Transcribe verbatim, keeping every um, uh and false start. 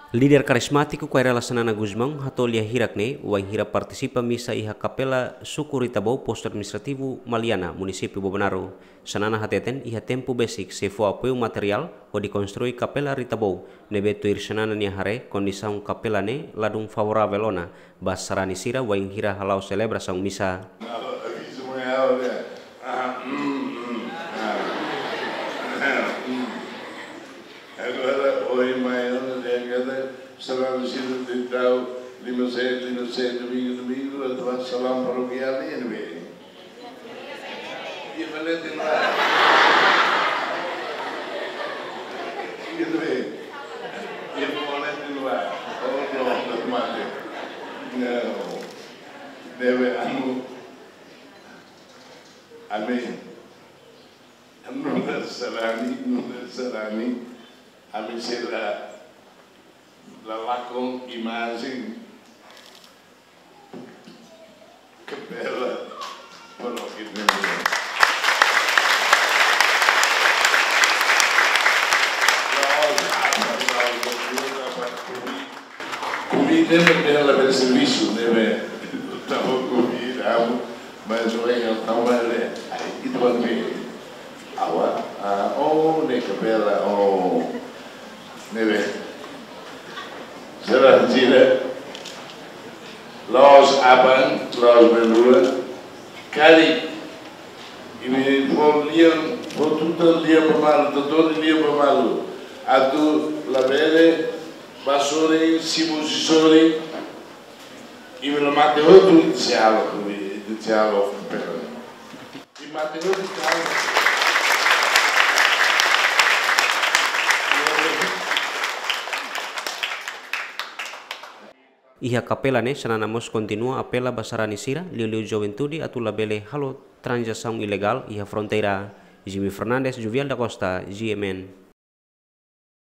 Líder karizmátiku Kay Rala Xanana Gusmão hato'o lia hirak ne'e wainhira partisipa misa iha Kapela Suku Ritabou, Postu Administrativu Maliana, Munisípiu Bobonaro. Xanana hateten iha tempu besik sei fó apoiu materiál hodi konstrui Kapela Ritabou, ne'ebé tuir Xanana nia haree kondisaun kapela ne'e ladún favoravel ona ba sarani sira wainhira hala'o selebrasaun misa. Agora, ohin mai ona dehan katak sarani sira tenke tau lima sen, lima sen, domingu, domingu, atu bá salão parokiál ne'e, ne'ebé. Iha Valete ne'ebá. Iha ne'ebé. Iha Valete ne'ebá. Oh, no, no, mate. No. Ne'ebé anu. Amén. Nu'udar sarani, nu'udar sarani. Ami sei la lakon imajen kapela. Bueno, que tengo. Komité ne'ebé labele servisu, ne'ebé tava komité, amo, mas o eng tava le, ai, itu kan be. Awa, ah, oh, ne'e kapela, oh, ne'ebé. Sarani sira, la'ós aban, la'ós belua, karik, imi fó lian, fó tutan lian ba malu, tutan lian ba malu. Atu labele bá sorin, simu husi sorin, imi la mate hotu, ita sei halo, ita sei halo kapela. Imi mate hotu, ita halo. Iha kapela ne'e, Xanana mós kontinua apela ba sarani sira, liuliu juventude atu labele halo tranzasaun ilegál iha fronteira. Jimmy Fernandes, Juvial da Costa, G M N.